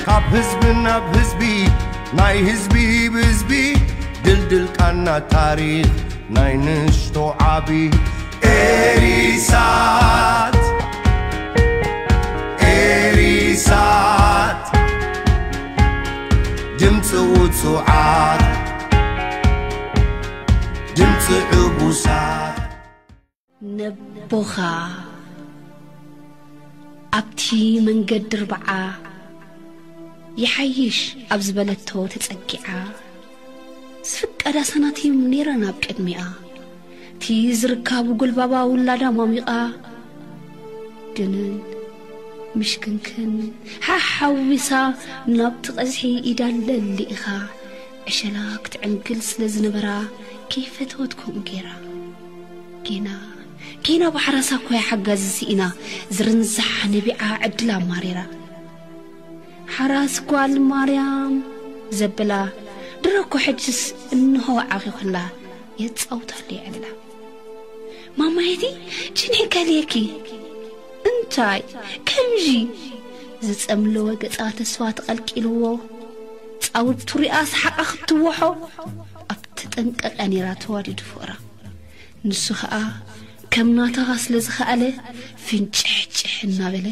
ካብ ህዝቢ ናብ ህዝቢ ናይ ህዝቢ ብህዝቢ ድልድል ቃና ታሪኽ ናይ ንእሽቶ ዓቢ ኤሪሳት ኤሪሳት ድምፂ ውፁዓት ድምፂ ዕቡሳት ነቦኻ ኣብቲ መንገዲ ርብዓ ይሓይሽ ኣብ ዝበለቶ ተጸጊዓ ዝፍቀዳ ሰናት እዮም ነይረን ኣብ ቅድሚኣ እቲ ዝርካቡ ጉልባባ ውላዳ ሟሚቓ ግንን ምሽክንክን ሓሓዊሳ ናብቲ ቀዝሒ ኢዳ ለሊኢኻ ዕሸላ ክትዕንግል ስለ ዝነበራ ከይፈተወት ከምኡ ገይራ ጌና ጌና ብሓራሳ ኮያ ሓጋዚ ስኢና ዝርንዛሕ ነቢዓ ዕድላ ኣማሪራ ሓራስ ጓል ማርያም ዘብላ ድሮ እኮ ሕጅስ እንሆ ዓኺኹላ የጻውታሉ ይዕላ ማማየቲ ጭንሒ ከልየኪ እንታይ ከምዚ ዝጸምለወ ገጻ ተስፋ ተቐልቂልዎ ጻውቱ ሪኣ ሰሓቓ ክትወሖ ኣብ ተጠንቀቀ ነይራ ተዋዲዱ ፍቕራ ንሱ ኸኣ ከም ናታኻ ስለ ዝኸኣለ ፍንጭሕጭሕ እናበለ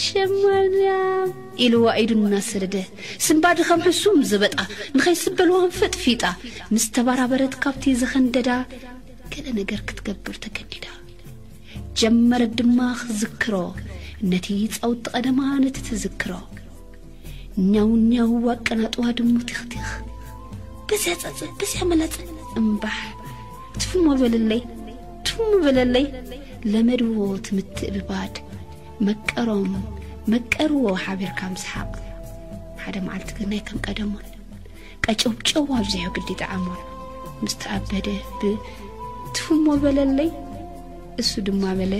ሸማርያም ኢልዋ ኢዱ እናሰደደ ስምባዲ ከም ሕሱም ዝበጣ ንኸይስበልዋን ፈጥፊጣ ምስ ተባራበረት ካብቲ ዘኸንደዳ ገለ ነገር ክትገብር ተገዲዳ ጀመረት ድማ ክዝክሮ ነቲ ጻውቲ ቀደማ ነቲ ትዝክሮ ኛው ኛው ኣቀናጥዋ ድሙ ቲኽቲኽ በዚያ ጸጸ በዚያ መላጸ እምባሕ ትፍሞ በለለይ ትፍሞ በለለይ ለመድዎ ትምትእብባድ መቀሮም መቀርዎ ሓቢርካ ምስሓቕ ሓደ መዓልቲ ግን ናይ ከም ቀደሞን ቀጨውጨው ኣብዚሑ ግዲ ጠዓሞን ምስ ተኣበደ ብ ትፍሞ በለለይ እሱ ድማ በለ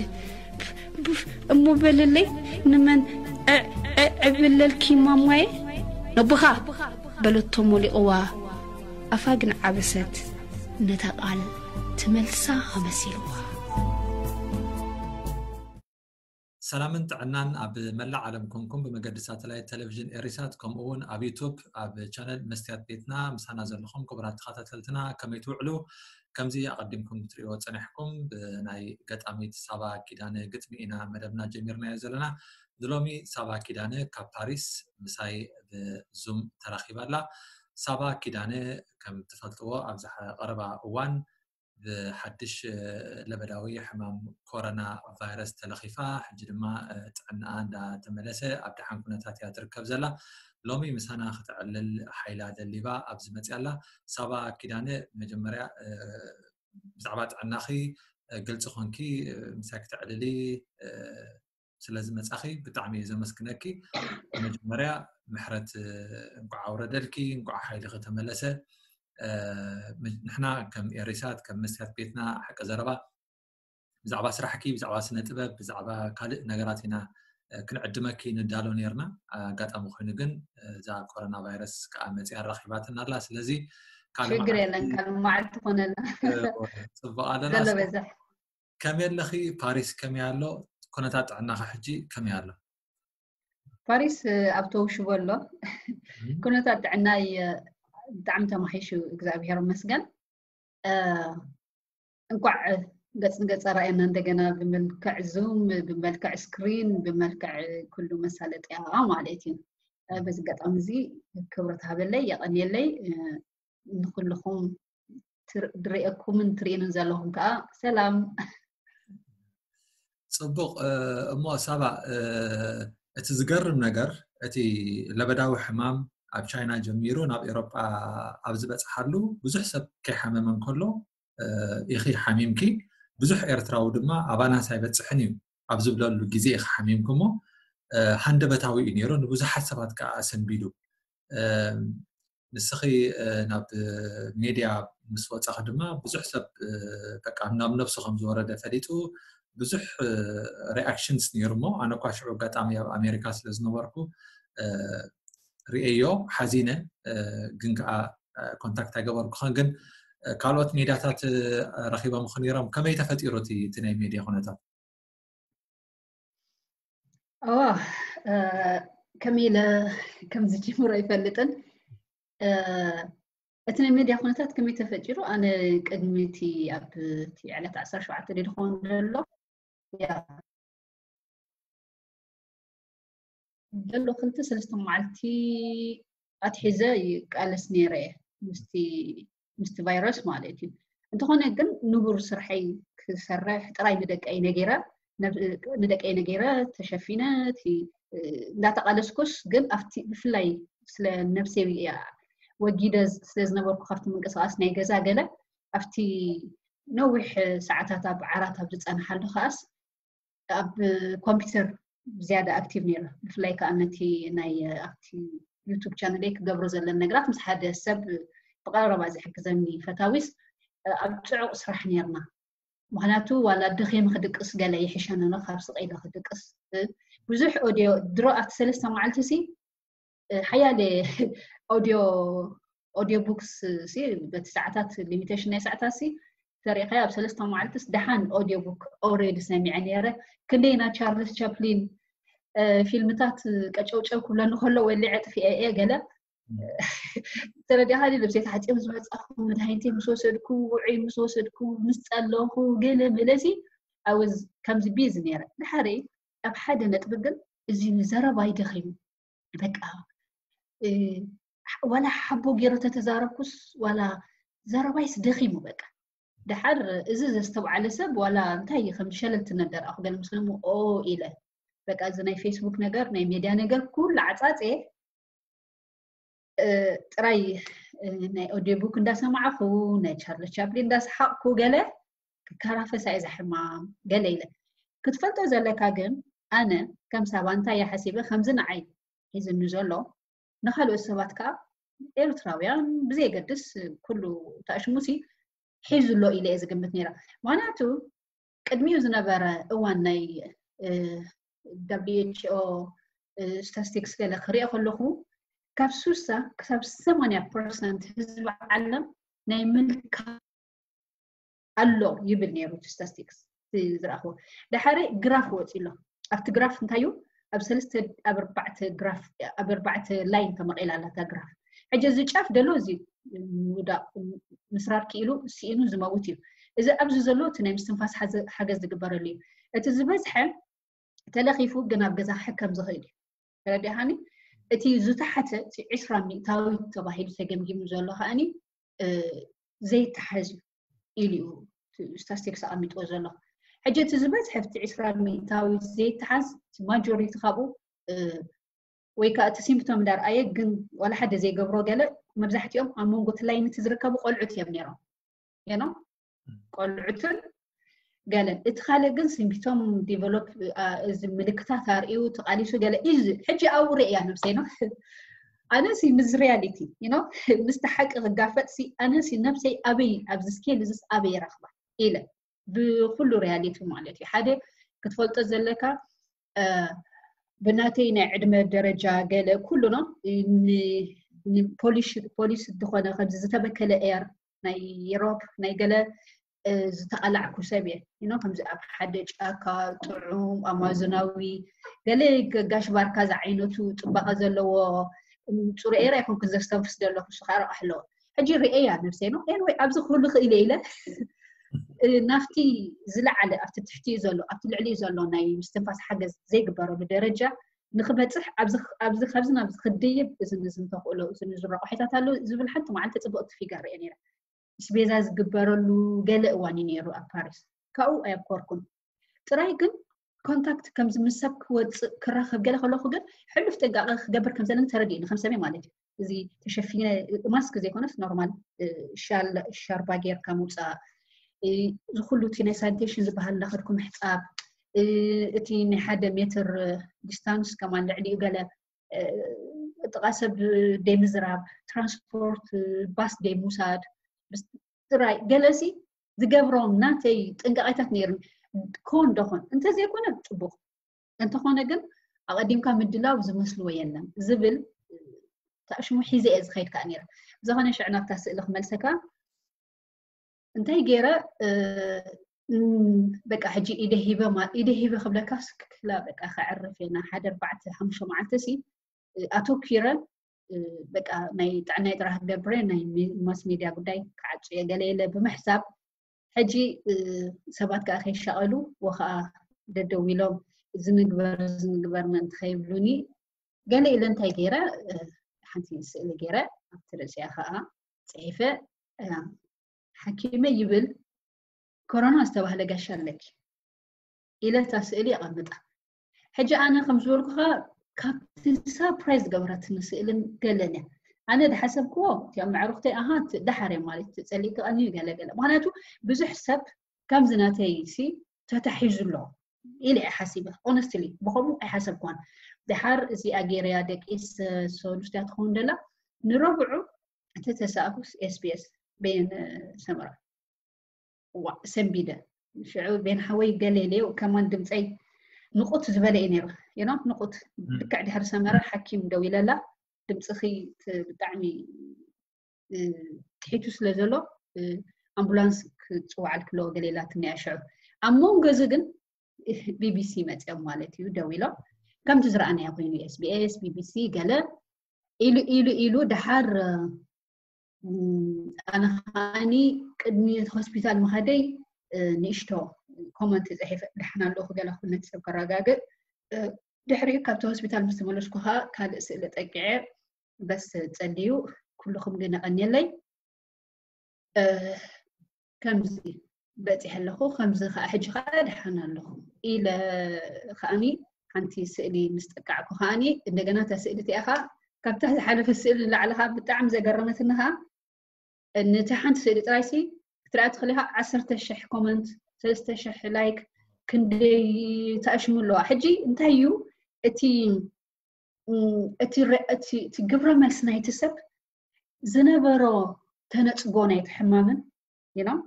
እሞ በለለይ ንመን ዕብለልኪ ማማየ ነቦኻ በለቶ ሞሊቕዋ ኣፋ ግን ዓበሰት ነታ ቃል ትመልሳ መሲልዋ ሰላምን ጥዕናን ኣብ መላእ ዓለም ኮንኩም ብመገዲ ሳተላይት ቴሌቪዥን ኤሪሳት ከምኡ እውን ኣብ ዩቱብ ኣብ ቻነል መስትያት ቤትና ምሳና ዘለኹም ክቡራት ተኸታተልትና ከመይ ትውዕሉ ከምዚ ኣቐዲምኩም ክትሪእዎ ጸኒሕኩም ብናይ ገጣሚት ሳባ ኪዳነ ግጥሚ ኢና መደብና ጀሚርናዮ ዘለና ንሎሚ ሳባ ኪዳነ ካብ ፓሪስ ምሳይ ብዙም ተራኺባ ኣላ ሳባ ኪዳነ ከም ትፈልጥዎ ኣብዚ ቀረባ እዋን ብሓድሽ ለበዳዊ ሕማም ኮሮና ቫይረስ ተለኺፋ ሕጂ ድማ ጥዕናኣ እንዳተመለሰ ኣብ ደሓን ኩነታት እያ ትርከብ ዘላ ሎሚ ምሳና ክተዕልል ሓይላ ደሊባ ኣብዚ መፅያ ኣላ ሳባ ኪዳነ መጀመርያ ብዛዕባ ጥዕናኺ ግልፂ ኮንኪ ምሳይ ክተዕልሊ ስለዝመፃኺ ብጣዕሚ እየ ዘመስግነኪ መጀመርያ ምሕረት እንኳዕ ኣውረደልኪ እንኳዕ ሓይልኺ ተመለሰ ንሕና ከም ኤሪሳት ከም መስትያት ቤትና ሓቂ ዘረባ ብዛዕባ ስራሕኪ ብዛዕባ ስነ ጥበብ ብዛዕባ ካልእ ነገራት ኢና ክንዕድመኪ ንዳሎ ነርና ኣጋጣሚ ኮይኑ ግን እዛ ኮሮና ቫይረስ ከዓ መፅያ ኣራኪባትና ኣላ ስለዚ ሽግር የለን ካብ መዓልቲ ኮነና ፅቡቅ ኣለና ከመይ ኣለኺ ፓሪስ ከመይ ኣሎ ኩነታት ጥዕናኻ ሕጂ ከመይ ኣሎ ፓሪስ ኣብ ተውሽቦ ኣሎ ኩነታት ጥዕናይ ብጣዕሚ ተማሒሹ እግዚኣብሔር መስገን እንኳዕ ገጽ ንገጽ ኣራእየና እንደገና ብመልክዕ ዙም ብመልክዕ ስክሪን ብመልክዕ ኩሉ መሳለጥያ ማለት እዩ በዚ ኣጋጣሚ እዚ ክብረት ሃበለይ የቐንየለይ ንኩልኹም ድርእየኩምን ትርእዩንን ዘለኹም ከዓ ሰላም ፅቡቅ እሞ ሳባ እቲ ዝገርም ነገር እቲ ለበዳዊ ሕማም ኣብ ቻይና ጀሚሩ ናብ ኤሮጳ ኣብ ዝበፅሓሉ ብዙሕ ሰብ ከይሓመመ እንከሎ ኢኺ ሓሚምኪ ብዙሕ ኤርትራዊ ድማ ኣባናስ ኣይበፅሕን እዩ ኣብ ዝብለሉ ግዜ ኢኺ ሓሚምኪ እሞ ሃንደበታዊ እዩ ነይሩ ንብዙሓት ሰባት ከዓ ኣሰንቢዱ ንስኺ ናብ ሜድያ ምስ ወፃኺ ድማ ብዙሕ ሰብ በቃ ናብ ነብሱ ከም ዝወረደ ፈሊጡ ብዙሕ ሪኣክሽንስ ነይሩ እሞ ኣነ እኳ ሽዑ ኣጋጣሚ ኣብ ኣሜሪካ ስለ ዝነበርኩ ርእየዮ ሓዚነ ግን ከዓ ኮንታክት ኣይገበርኩኸን ግን ካልኦት ሜድያታት ረኪቦም ክነይሮም ከመይ ተፈጢሩ እቲ ናይ ሜድያ ኩነታት እዋ ከመይ ኢለ ከም ዝጅምሮ ኣይፈልጥን። እቲ ናይ ሜድያ ኩነታት ከመይ ተፈጢሩ? ኣነ ቅድሚ እቲ ኣብ እቲ ዕለት ዓሰርተ ሸውዓተ ድዩ ዝኸውን ዘሎ ዘሎ ክልተ ሰለስተ መዓልቲ ኣትሒዘ ይቃለስ ነይረ ምስቲ ምስቲ ቫይረስ ማለት እዩ። እንተኾነ ግን ንቡር ስርሐይ ክሰርሕ ጥራይ ንደቀይ ነጊረ ንደቀይ ነጊረ ተሸፊነ እንዳተቃለስኩስ ግን ኣብቲ ብፍላይ ስለ ነብሰይ ወጊደ ስለ ዝነበርኩ ካብቲ ምንቅስቃስ ናይ ገዛ ገለ ኣብቲ ነዊሕ ሰዓታት ኣብ ዓራት ኣብ ዝጸንሓሉ ከኣስ ኣብ ኮምፒውተር ዝያዳ ኣክቲቭ ነይረ። ብፍላይ ከዓ ነቲ ናይ ኣብቲ ዩቱብ ቻነለይ ክገብሮ ዘለን ነገራት ምስ ሓደ ሰብ ብቀረባ ዝሕግዘኒ ፈታዊስ ኣብ ፅዑቕ ስራሕ ነርና። ምክንያቱ ዋላ ደኺመ ክድቅስ ገለ ይሕሸኒ ካብ ስቕ ኢለ ክድቅስ። ብዙሕ ኦድዮ ድሮ ኣብቲ ሰለስተ መዓልቲ ሲ ሓያለ ኦድዮ ኦድዮ ቡክስ ሲ በቲ ሰዓታት ሊሚቴሽን ናይ ሰዓታት ሲ ተሪእካዮ ኣብ ሰለስተ መዓልትስ ደሓን ኦድዮ ቡክ ኦልሬዲ ሰሚዐ ነይረ። ክንደይ ናይ ቻርልስ ቻፕሊን ፊልምታት ቀጨውጨው ክብለኒ ከሎ ወሊዐ ጥፊኤ እየ ገለ ተረዲኻ ልብሰይ ተሓፂቡ ዝመፃኹ መድሃኒተይ ምስ ወሰድኩ ውዑይ ምስ ወሰድኩ ምስ ፀለኹ ገለ መለሲ ኣወዝ ከምዚ ቢዚ ነይረ። ድሓረይ ኣብ ሓደ ነጥቢ ግን እዚ ዘረባይ ደኺሙ በቃ ዋላ ሓቦ ገይረ ተተዛረብኩስ ዋላ ዘረባይስ ደኺሙ በቃ ድሓር እዚ ዘስተውዓለ ሰብ ዋላ እንታይ ከም ሸለል ትነደር ኣኹ ገለ ምስ ኦ ኢለ በቃ እዚ ናይ ፌስቡክ ነገር ናይ ሜድያ ነገር ኩሉ ዓፃፀ ጥራይ ናይ ኦዲዮ ቡክ እንዳሰማዕኹ ናይ ቻርሊ ቻፕሊን እንዳሰሓቕኩ ገለ ክከራፈሳ እየ ዝሕማም ገለ ኢለ ክትፈልጦ ዘለካ ግን ኣነ ከም ሳባ እንታይ እየ ሓሲበ ከምዚ ንዓይ ሒዝኒ ዘሎ ንካልኦት ሰባት ከዓ ኤርትራውያን ብዘየገድስ ኩሉ ተኣሽሙሲ ሒዙ ኣሎ ኢለ እየ ዝግምት ነይረ። ምክንያቱ ቅድሚኡ ዝነበረ እዋን ናይ ደብሊው ኤች ኦ ስታስቲክስ ገለ ክሪኦ ከለኹ ካብ ሱሳ ክሳብ ሰማንያ ፐርሰንት ህዝቢ ዓለም ናይ ምልካ ኣሎ ይብል ነይሩ እቲ ስታስቲክስ ዝረኣኽዎ። ድሓረ ግራፍ ወፂ ኣሎ። ኣብቲ ግራፍ እንታይ እዩ ኣብ ሰለስተ ኣብ ኣርባዕተ ግራፍ ኣብ ኣርባዕተ ላይን ተመቒላ ኣላ እታ ግራፍ። ሕጂ እዚ ጫፍ ደሎ እዚ ውዳቕ ምስራር ክኢሉ ስኢኑ ዝመውት እዩ። እዚ ኣብዚ ዘሎ እቲ ናይ ምስትንፋስ ሓገዝ ዝግበረሉ እዩ። እቲ ዝበዝሐ ተለኺፉ ግን ኣብ ገዛ ክሕከም ዝኽእል እዩ። ተረዲኻኒ? እቲ ዝተሓተ እቲ ዕስራ ሚእታዊት ተባሂሉ ተገምጊሙ ዘሎ ከኣኒ ዘይተሓዝ እዩ ኢሉ እዩ ስታስቲክስ ኣቐሚጥዎ ዘሎ። ሕጂ እቲ ዝበዝሐ እቲ ዕስራ ሚእታዊት ዘይተሓዝ ማጆሪቲ ካብኡ ወይ ከዓ እቲ ሲምፕቶም እንዳርኣየ ግን ዋላ ሓደ ዘይገብሮ ገለ መብዛሕትኦም ኣብ መንጎ እቲ ላይን እቲ ዝርከቡ ቆልዑት እዮም ነይሮም። ኖ ቆልዑትን ገለን እቲ ካልእ ግን ሲምፕቶም ዲቨሎፕ እዚ ምልክታት ኣርእዩ ተቃሊሱ ገለ እዩ ሕጂ ኣብኡ ርእያ ነብሰይ ነው ኣነሲ ምስ ሪያሊቲ ኖ ምስቲ ሓቂ ክጋፈጥ ሲ ኣነሲ ነብሰይ ኣበይ ኣብዚ ስኬል እዚስ ኣበይ ረኽባ ኢለ ብኩሉ ሪያሊቲ ማለት እዩ ሓደ ክትፈልጦ ዘለካ ብናተይ ናይ ዕድመ ደረጃ ገለ ኩሉ ነው ፖሊስ ዝኾነ ከምዚ ዝተበከለ ኤር ናይ ዩሮፕ ናይ ገለ ዝተቐላዕኩ ሰብ እየ ኖ ከምዚ ኣብ ሓደ ጫካ ጥዑም ኣማዞናዊ ገለ ጋሽ ባርካ ዝዓይነቱ ፅባቐ ዘለዎ ፅሩ ኤር ኣይኮንኩን ዘስተንፍስ ዘለኹ እሱ ከዓ ረቃሕ ኣለዎ ሕጂ ርእየያ ነብሰይ ነው ኤንወይ ኣብዚ ክህሉ ክእለ ኢለ ናብቲ ዝለዓለ ኣብቲ ትሕቲ ዘሎ ኣብቲ ልዕሊ ዘሎ ናይ ምስትንፋስ ሓገዝ ዘይግበረሉ ደረጃ ንክበፅሕ ኣብዚ ካብዚ ናብዚ ክድይብ እዚ ንዝንተኽእሎ እዚ ንዝረቑሒታት ኣሎ ዝብል ሓንቲ መዓልቲ ፅቡቕቲ ፊገር ርአ ነይረ ስቤዛ ዝግበረሉ ገለ እዋን እዩ ነይሩ ኣብ ፓሪስ ካብኡ ኣየብኮርኩን ጥራይ ግን ኮንታክት ከምዚ ምስ ሰብ ክወፅእ ክራኸብ ገለ ከለኹ ግን ሕሉፍ ጥንቃቐ ክገብር ከም ዘለኒ ተረዲእኒ ከም ሰበይ ማለት እዩ እዚ ተሸፊነ ማስክ ዘይኮነስ ኖርማል ሻርባ ጌርካ ምውፃእ ዝኩሉ እቲ ናይ ሳኒቴሽን ዝበሃል እንዳኸድኩ ምሕፃብ እቲ ናይ ሓደ ሜትር ዲስታንስ ከማን ልዕሊኡ ገለ ጥቃ ሰብ ደይ ምዝራብ ትራንስፖርት ባስ ደይ ምውሳድ ጥራይ ገለሲ ዝገብሮም ናተይ ጥንቃቄታት ነይሩን ኮን ደኾን እንተዘይኮነ ፅቡቅ እንተኾነ ግን ኣቐዲምካ ምድላው ዝመስልዎ የለን ዝብል ተኣሽሙ ሒዘ እየ ዝኸይድ ከዓ ነይረ ብዝኾነ ሽዕ ናብታ ስእሊ ክመልሰካ እንታይ ገይረ በቃ ሕጂ ኢደ ሂበ ኢደ ሂበ ክብለካ ስክክላ በቃ ከዕርፍ እየ ሓደ ኣርባዕተ ሓሙሽተ መዓልቲ ሲ ኣተኪረ በቃ ናይ ጥዕናይ ጥራሕ ክገብረ ናይ ማስ ሚድያ ጉዳይ ክዓጹ እየ ገለ የለ ብምሕሳብ ሕጂ ሰባት ከዓ ከይሻቐሉ ወኸዓ ደደው ኢሎም ዝንግበር ዝንግበር ምእንቲ ከይብሉኒ ገለ ኢለ እንታይ ገይረ ሓንቲ ስእሊ ገይረ ኣብቲ ርእሲያ ከዓ ፅሒፈ ሓኪመ ይብል ኮሮና ዝተባህለ ጋሻ ኣለኪ ኢለ እታ ስእሊ ኣቐምጣ። ሕጂ ኣነ ከም ዝበልኩኻ ካብቲ ሳፕራይዝ ገበረትኒ ስእልን ገለን እያ። ኣነ ዝሓሰብክዎ እቲኦም መዕርኽተይ ኣሃ ደሓር እዮም ማለት እዩ፣ ጸሊእኪ ቀንዩ ገለ ገለ። ምኽንያቱ ብዙሕ ሰብ ከምዚ ናተይ ሲ ተታሒዙ ኣሎ ኢለ እየ ሓሲበ። ኦነስትሊ ብኸምኡ ኣይሓሰብክዋን። ደሓር እዚኣ ገይረያ ደቂስ ሰሉስቲያ ትኸውን ደላ ንረብዑ እቲ ተሳእኩስ ኤስቢኤስ በየን ሰመራ ዋእ ሰንቢደ ሽዑ ቤን ሓወይ ገለ ኢለዮ ከማን ድምፀይ ንቁት ዝበለ እዩ ነይሩ you know ንቁት ልክዕ ድሕሪ ሰመረ ሓኪም ደው ኢለላ ድምፅኺ ት- ብጣዕሚ እ፣ ትሒቱ ስለ ዘሎ እ፣ ኣምቡላንስ ክፅዋዓልኪ ኣለዎ ገለ ኢላትኒ እያ ሽዑ ኣብ መንጎ እዚ ግን ቢቢሲ መፅኦም ማለት እዩ ደው ኢሎም ከምቲ ዝረኣናዮ ኮይኑ ኤስቢኤስ ቢቢሲ ገለ ኢሉ ኢሉ ኢሉ ደሓር ኣነ ከዓኒ ቅድሚ ሆስፒታል ምኻደይ ንእሽቶ ኮመንት ፅሒፈ ደሓን ኣለኹ ገለ ኩሉ ነቲ ሰብ ከረጋግእ ድሕሪኡ ካብቲ ሆስፒታል ምስ ተመለስኩ ከዓ ካልእ ስእሊ ጠቂዐ በስ ፀልዩ ኩልኹም ግን የቐንየለይ ከምዚ በፂሐ ኣለኹ ከምዚ ከዓ ሕጂ ከዓ ደሓን ኣለኹ ኢለ ከዓኒ ሓንቲ ስእሊ ምስ ጠቃዕኩ ከዓኒ እንደገና እታ ስእሊ እቲኣ ከዓ ካብታ ዝሓለፈ ስእሊ ንላዕሊ ከዓ ብጣዕሚ ዘገረመትኒ ከዓ ነቲ ሓንቲ ስእሊ ጥራይሲ ክትርኣ ትኽእል ኢኻ ዓሰርተ ሽሕ ኮመንት ሰለስተ ሽሕ ላይክ ክንደይ ተኣሽሙ ኣለዋ ሕጂ እንታይ እዩ እቲ እቲ ግብረ መልሲ ናይቲ ሰብ ዝነበሮ ተነፅጎ ናይቲ ሕማምን you know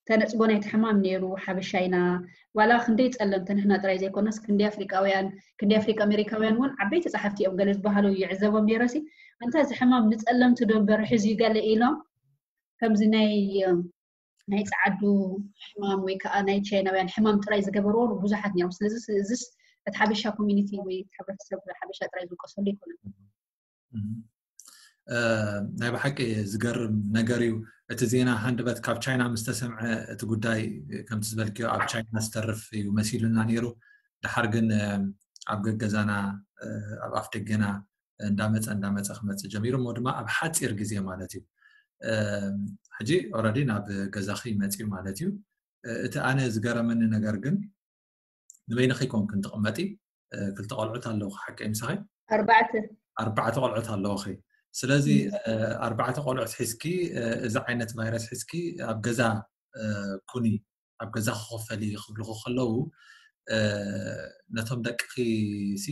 ተነፅጎ ናይቲ ሕማም ነይሩ ሓበሻ ኢና ዋላ ክንደይ ፀለምቲ ንሕና ጥራይ ዘይኮነስ ክንደይ ኣፍሪቃውያን ክንደይ ኣፍሪቃ ኣሜሪካውያን እውን ዓበይቲ ፀሓፍቲ እዮም ገለ ዝበሃሉ ይዕዘቦም ነይረሲ ኣንታ እዚ ሕማም ንፀለምቲ ዶ እምበር ሕዚ ገለ ኢሎም ከምዚ ናይ ናይ ፀዓዱ ሕማም ወይ ከዓ ናይ ቻይናውያን ሕማም ጥራይ ዝገበርዎ ብዙሓት ነይሮም ስለዚ እዚስ እቲ ሓበሻ ኮሚኒቲ ወይ ሕብረተሰብ ሓበሻ ጥራይ ዝውቀሰሉ ኣይኮነን ናይ ብሓቂ ዝገርም ነገር እዩ እቲ ዜና ሃንደበት ካብ ቻይና ምስ ተሰምዐ እቲ ጉዳይ ከምቲ ዝበልክዮ ኣብ ቻይና ዝተርፍ እዩ መሲሉና ነይሩ ድሓር ግን ኣብ ገገዛና ኣብ ኣፍ ደገና እንዳመፀ እንዳመፀ ክመፅእ ጀሚሩ እሞ ድማ ኣብ ሓፂር ግዜ ማለት እዩ ሕጂ already ናብ ገዛኺ መፅዩ ማለት እዩ እቲ ኣነ ዝገረመኒ ነገር ግን ንበይንኺ ኮንክን ትቕመጢ ክልተ ቆልዑት ኣለውኺ ሓቀይ ምሳኺ ኣርባዕተ ኣርባዕተ ቆልዑት ኣለውኺ ስለዚ ኣርባዕተ ቆልዑት ሒዝኪ እዚ ዓይነት ቫይረስ ሒዝኪ ኣብ ገዛ ኩኒ ኣብ ገዛ ክኸፈሊ ክብልኹ ከለዉ ነቶም ደቅኺ ሲ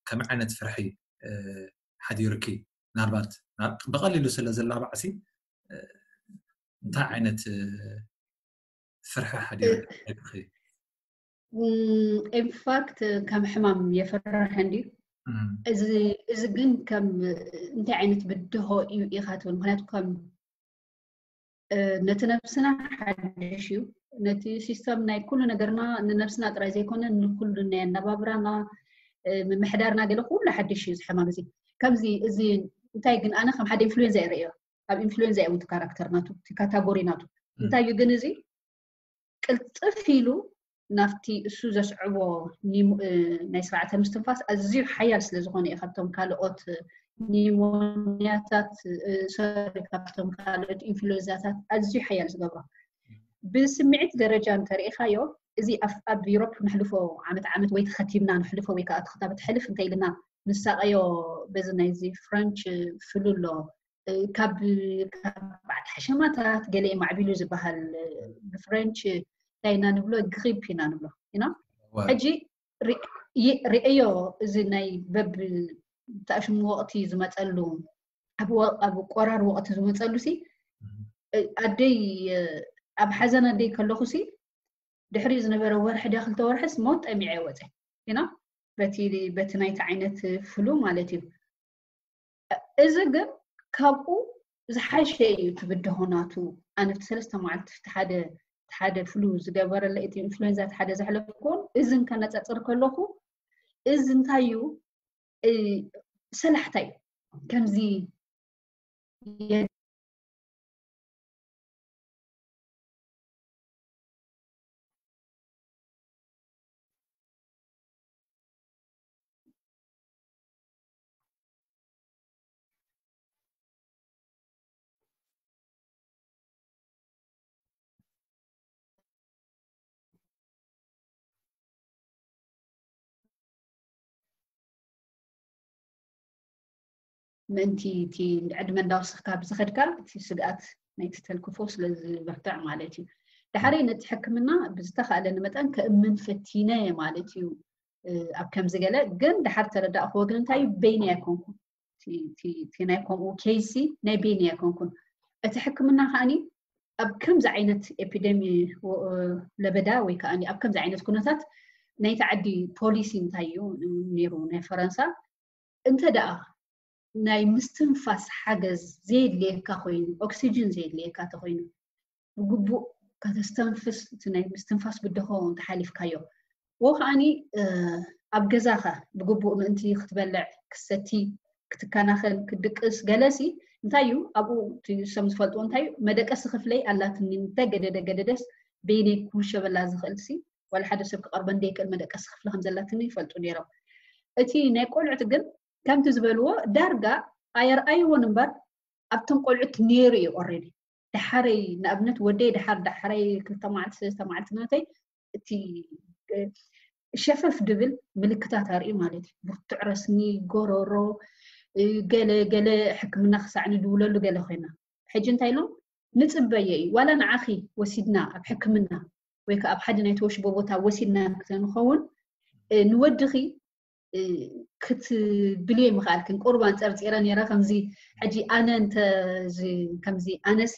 ከመይ ዓይነት ፍርሒ ሓዲርኪ ምናልባት ብቐሊሉ ስለ ዝላባዕ ሲ እንታይ ዓይነት ፍርሒ ሓዲርኪ ደቅኺ ኢንፋክት ከም ሕማም የፈርሕ እንድዩ እዚ ግን ከም እንታይ ዓይነት ብድሆ እዩ ኢኻ ትብል ምክንያቱ ከም ነቲ ነብስና ሓድሽ እዩ ነቲ ሲስተም ናይ ኩሉ ነገርና ንነብስና ጥራይ ዘይኮነ ንኩሉ ናይ ኣነባብራና ምምሕዳርና ገለ ኩሉ ሓድሽ እዩ ዝሕማም እዚ ከምዚ እዚ እንታይ ግን ኣነ ከም ሓደ ኢንፍሉዌንዛ ይርእዮ ኣብ ኢንፍሉዌንዛ እዩ ካራክተር ናቱ እቲ ካታጎሪ ናቱ እንታይ እዩ ግን እዚ ቅልጥፍ ኢሉ ናብቲ እሱ ዘስዕቦ ናይ ስርዓተ ምስትንፋስ ኣዝዩ ሓያል ስለ ዝኾነ እዩ ካብቶም ካልኦት ኒሞንያታት ሶሪ ካብቶም ካልኦት ኢንፍሉዌንዛታት ኣዝዩ ሓያል ዝገብሮ ብስምዒት ደረጃ እንተሪኢኻዮ እዚ ኣብ ዩሮፕ ንሕልፎ ዓመት ዓመት ወይ ተኸቲብና ንሕልፎ ወይ ከዓ ተኸታበት ሕልፍ እንተ ኢልና ንሳቀዮ በዚ ናይዚ ፍረንች ፍሉ ኣሎ ካብ በዓል ሓሸማታት ገለ ማዕቢሉ ዝበሃል ብፍረንች እንታይ ኢና ንብሎ ግሪፕ ኢና ንብሎ ኢና ሕጂ ርእዮ እዚ ናይ በብ ተኣሽሙ ወቕቲ ዝመፀሉ ኣብ ቆራር ወቕቲ ዝመፀሉ ሲ ኣደይ ኣብ ሓዘን ኣደይ ከለኹ ሲ ድሕሪኡ ዝነበረ ወርሒ ዳ ክልተ ወርሕስ ሞት ጠሚዐ ወፀ ኢና በቲ በቲ ናይቲ ዓይነት ፍሉ ማለት እዩ እዚ ግን ካብኡ ዝሓሸ እዩ ትብድሆ ናቱ ኣነ እቲ ሰለስተ መዓልቲ እቲ ሓደ ሓደ ፍሉ ዝገበረለ እቲ ኢንፍሉዌንዛ እቲ ሓደ ዘሕለፍኩዎን እዝን ከነፃፅር ከለኹ እዚ እንታይ እዩ ሰላሕታይ ከምዚ ምእንቲ እቲ ዕድመ እንዳወሰኽካ ብዝኸድካ እቲ ስግኣት ናይቲ ተልክፎ ስለ ዝበርትዕ ማለት እዩ። ዳሕረይ ነቲ ሕክምና ብዝተኻእለኒ መጠን ከእምን ፈቲነ ማለት እዩ። ኣብ ከምዚ ገለ ግን ድሓር ተረዳእክዎ ግን እንታይ እዩ በይኒ ኣይኮንኩን። እቲ ናይ ከምኡ ኬይሲ ናይ በይኒ ኣይኮንኩን። እቲ ሕክምና ከዓኒ ኣብ ከምዚ ዓይነት ኤፒደሚ ለበዳ ወይ ከዓ ኣብ ከምዚ ዓይነት ኩነታት ናይቲ ዓዲ ፖሊሲ እንታይ እዩ ነይሩ ናይ ፈረንሳ እንተ ደኣ ናይ ምስትንፋስ ሓገዝ ዘየድልየካ ኮይኑ ኦክሲጅን ዘየድልየካ ተኮይኑ ብግቡእ ከተስተንፍስ እቲ ናይ ምስትንፋስ ብደሆ እንተሓሊፍካዮ ወ ከዓኒ ኣብ ገዛኻ ብግቡእ ምእንቲ ክትበልዕ ክሰቲ ክትከናኸን ክድቅስ ገለሲ እንታይ እዩ ኣብኡ እሶም ዝፈልጥዎ እንታይ እዩ መደቀሲ ክፍለይ ኣላትኒ እንተ ገደደ ገደደስ በይነይ ክውሸበላ ዝኽእል ሲ ዋላ ሓደ ሰብ ክቐርበ እንደይክእል መደቀሲ ክፍሊ ከም ዘላትኒ ይፈልጡ ነይሮም። እቲ ናይ ቆልዑት ግን ከምቲ ዝበልዎ ዳርጋ ኣየርኣይዎን እምበር ኣብቶም ቆልዑት ነይሩ እዩ ኦሬዲ። ዳሓረይ ንኣብነት ወደይ ዳሓር ዳሓረይ ክልተ መዓልቲ ሰለስተ መዓልቲ ናተይ እቲ ሸፈፍ ድብል ምልክታት ኣርኢ ማለት እዩ። ብርቱዕ ረስኒ፣ ጎረሮ፣ ገለ ገለ ሕክምና ክሳዕ ንድውለሉ ገለ ኮይና። ሕጂ እንታይ ኢሎም ንፅበየ እዩ ዋላ ንዓኺ ወሲድና ኣብ ሕክምና ወይ ከዓ ኣብ ሓደ ናይ ተወሽቦ ቦታ ወሲድና ክተንኸውን ንወድኺ ክትብልዮ ምኽኣልክን ቁርባን ፀርፂረ ነይረ ከምዚ ሕጂ ኣነ እንተ ከምዚ ኣነሲ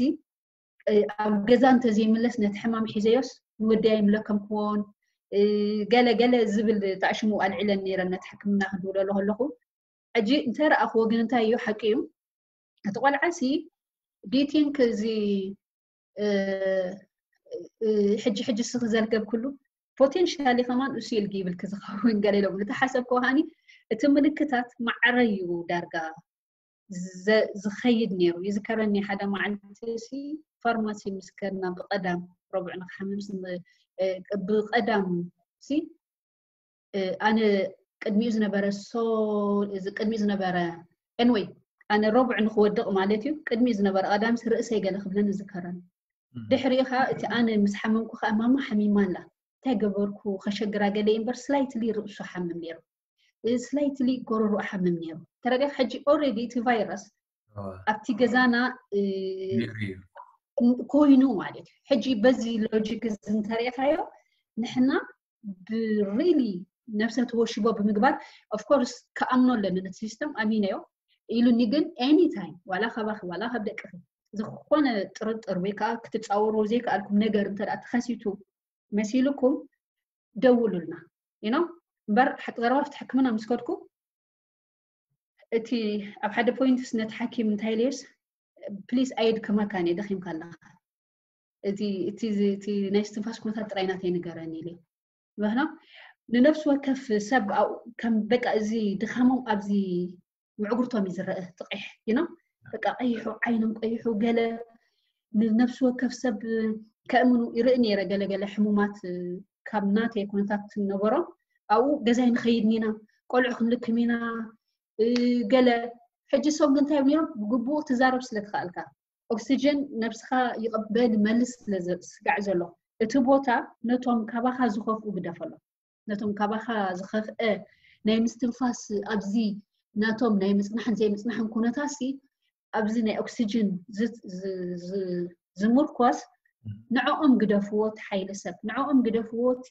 ኣብ ገዛ እንተዘይምለስ ነቲ ሕማም ሒዘዮስ ንወደይ ኣይምለከምክዎን ገለ ገለ ዝብል ጣዕሽሙ ኣልዒለን ነይረ ነቲ ሕክምና ክድውለሉ ከለኹ ሕጂ እንተ ረኣኽዎ ግን እንታይ እዩ ሓቂ እዩ እቲ ቆልዓ ሲ ዲቲንክ እዚ ሕጂ ሕጂ ስኺ ዘልገብክሉ ፖቴንሻሊ ከማን እሱ ኢልጊ ይብልክ ዝኸውን ገለ ኢሎም እቲ ሓሰብ ከሃኒ እቲ ምልክታት ማዕረ እዩ ዳርጋ ዝኸይድ ነይሩ ይዝከረኒ ሓደ መዓልቲ ሲ ፋርማሲ ምስ ከድና ብቀዳም ረቡዕ ንክሓምም ብቀዳም ሲ ኣነ ቅድሚኡ ዝነበረ ሶ እዚ ቅድሚኡ ዝነበረ ኤንወይ ኣነ ረቡዕ ንክወድቕ ማለት እዩ ቅድሚኡ ዝነበረ ቀዳምስ ርእሰይ ገለ ክብለኒ ዝከረኒ ድሕሪኡ ከዓ እቲ ኣነ ምስ ሓመምኩ ከዓ ማማ ሓሚማ ኣላ እንታይ ገበርኩ ከሸግራ ገለ እምበር ስላይትሊ ርእሱ ሓምም ነይሩ ስላይትሊ ጎረሮ ሓምም ነይሩ ተረዲኻ ሕጂ ኦሬዲ እቲ ቫይረስ ኣብቲ ገዛና ኮይኑ ማለት እዩ ሕጂ በዚ ሎጂክ እዚ እንተሪእካዮ ንሕና ብሪሊ ነብሰ ተወሽቦ ብምግባር ኦፍኮርስ ክኣምኖ ኣለኒ ነቲ ሲስተም ኣሚነዮ ኢሉኒ ግን ኤኒታይም ዋላ ካባኺ ዋላ ካብ ደቅኺ ዝኾነ ጥርጥር ወይ ከዓ ክትፃወርዎ ዘይከኣልኩም ነገር እንተ ተኸሲቱ መሲልኩም ደውሉልና ኢኖ እምበር ዘረባ ፍቲ ሕክምና ምስ ከድኩ እቲ ኣብ ሓደ ፖይንትስ ነቲ ሓኪም እንታይ ኢለዮስ ፕሊስ ኣየድክመካን እየ ደኺምካ ኣለካ እቲ እቲ እቲ ናይ ስትንፋስ ኩነታት ጥራይ ናተይ ንገረኒ ኢለ ምክና ንነፍሲ ወከፍ ሰብ ከም በቃ እዚ ድኻሞም ኣብዚ ምዕጉርቶም እዩ ዝረአ ጥቂሕ ይኖ በቃ ቀይሑ ዓይኖም ቀይሑ ገለ ንነፍሲ ወከፍ ሰብ ከእምኑ ይርኢ ነይረ ገለገለ ሕሙማት ካብ ናተይ ኩነታት ነበሮም ኣብኡ ገዛይ ንኸይድ ኢና ቆልዑ ክንልክም ኢና ገለ ሕጂ ሰው ግን እንታይ ነይሮም ብግቡእ ትዛረብ ስለ ትኽኣልካ ኦክሲጅን ነብስኻ ይቕበል መልስ ስለ ስጋዕ ዘሎ እቲ ቦታ ነቶም ካባኻ ዝኸፍኡ ግደፈሎም ነቶም ካባኻ ዝኸፍአ ናይ ምስትንፋስ ኣብዚ ናቶም ናይ ምፅናሕን ዘይምፅናሕን ኩነታሲ ኣብዚ ናይ ኦክሲጅን ዝምርኮስ ንዕኦም ግደፍዎ እቲ ሓይሊ ሰብ ንዕኦም ግደፍዎ እቲ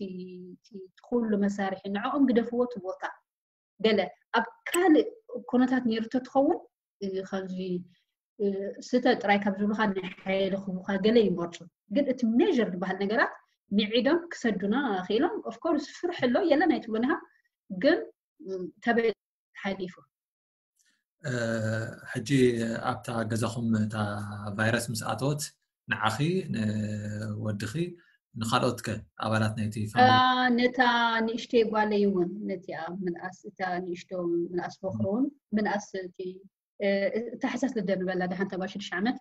ኩሉ መሳርሒ ንዕኦም ግደፍዎ እቲ ቦታ ገለ ኣብ ካልእ ኩነታት ነይሩ ተትኸውን ከምዚ ስተ ጥራይ ካብ ዝብሉካ ናይ ሓይሊ ክቡካ ገለ ይመርፁ ግን እቲ ሜር ዝበሃል ነገራት ሚዒዶም ክሰዱና ክኢሎም ኦፍኮርስ ፍርሒ ኣሎ የለን ኣይትብሉን ኢኻ ግን ተበ ሓሊፉ ሕጂ ኣብታ ገዛኹም እታ ቫይረስ ምስ ኣተወት ንዓኺ ንወድኺ ንኻልኦት ከ ኣባላት ናይቲ ፋሚሊ? ነታ ንእሽተይ ጓለይ እውን ነቲኣ ምንኣስ እታ ንእሽቶ ምንኣስ በኽሪ እውን ምንኣስ እቲ ታሕሳስ ልደ ንበላ ደሓን ተባሽድሽ ዓመት